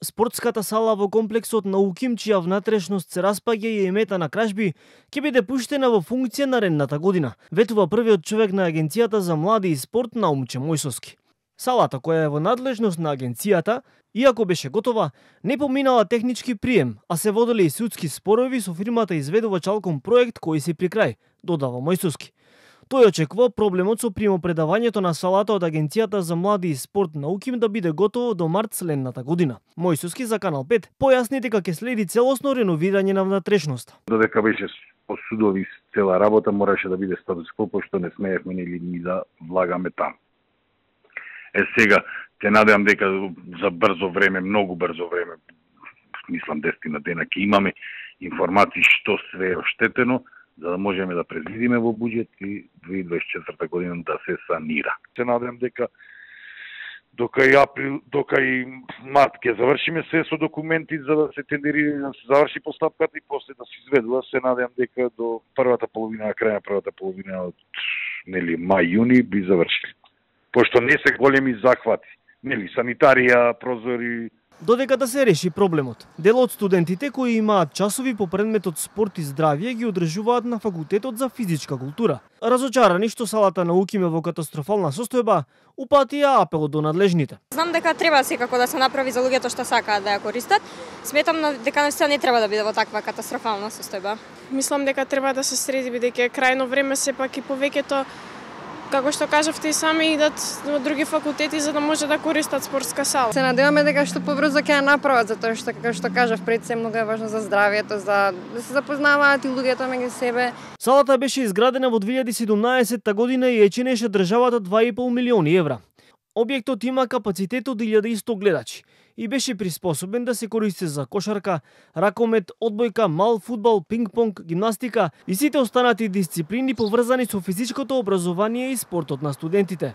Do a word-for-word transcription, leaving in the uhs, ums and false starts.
Спортската сала во комплексот на УКИМ, чија внатрешност се распаѓа и е мета на кражби, ќе биде пуштена во функција наредната година, ветува првиот човек на Агенцијата за млади и спорт Наумче Мојсовски. Салата, која е во надлежност на агенцијата, иако беше готова, не поминала технички прием, а се водели и судски спорови со фирмата изведувач Алком проект кој се при крај, додава Мојсовски. Тој очекува проблемот со примопредавањето на салата од Агенцијата за млади и спорт на УКИМ да биде готово до март следната година. Мојсовски за Канал пет појасни дека ќе следи целосно реновирање на внатрешноста. Додека беше по судови цела работа, мораше да биде статус кво, пошто не смеевме или ни да влагаме таму. Е сега, те надевам дека за брзо време, многу брзо време, мислам десетина дена ќе имаме информации што све е оштетено, за да можеме да предвидиме во буџет и две илјади дваесет и четврта година да се санира. Се надевам дека дока и април, дока и март ќе завршиме се со документи за да се тендерира, да се заврши постапката и после да се изведува. Се надевам дека до првата половина, крај на првата половина од нели мај-јуни би завршили. Пошто не се големи захвати, нели санитарија, прозори. Додека да се реши проблемот, дел од студентите кои имаат часови по предметот спорт и здравје ги одржуваат на факултетот за физичка култура. Разочарани што салата на УКИМ е во катастрофална состојба, упатија апел до надлежните. Знам дека треба секако да се направи за луѓето што сакаат да ја користат. Сметам дека наистина не треба да биде во таква катастрофална состојба. Мислам дека треба да се среди бидејќи е крајно време сепак и повеќето, како што кажавте и сами, идат во други факултети за да може да користат спортска сала. Се надеваме дека што побрзо ќе ја направат, затоа што како што кажав пред се многу е важно за здравјето, за да се запознаваат и луѓето меѓу себе. Салата беше изградена во две илјади и седумнаесетта година и ја чинеше државата два и пол милиони евра. Објектот има капацитет од илјада и сто гледачи и беше приспособен да се користи за кошарка, ракомет, одбојка, мал фудбал, пинг-понг, гимнастика и сите останати дисциплини поврзани со физичкото образование и спортот на студентите.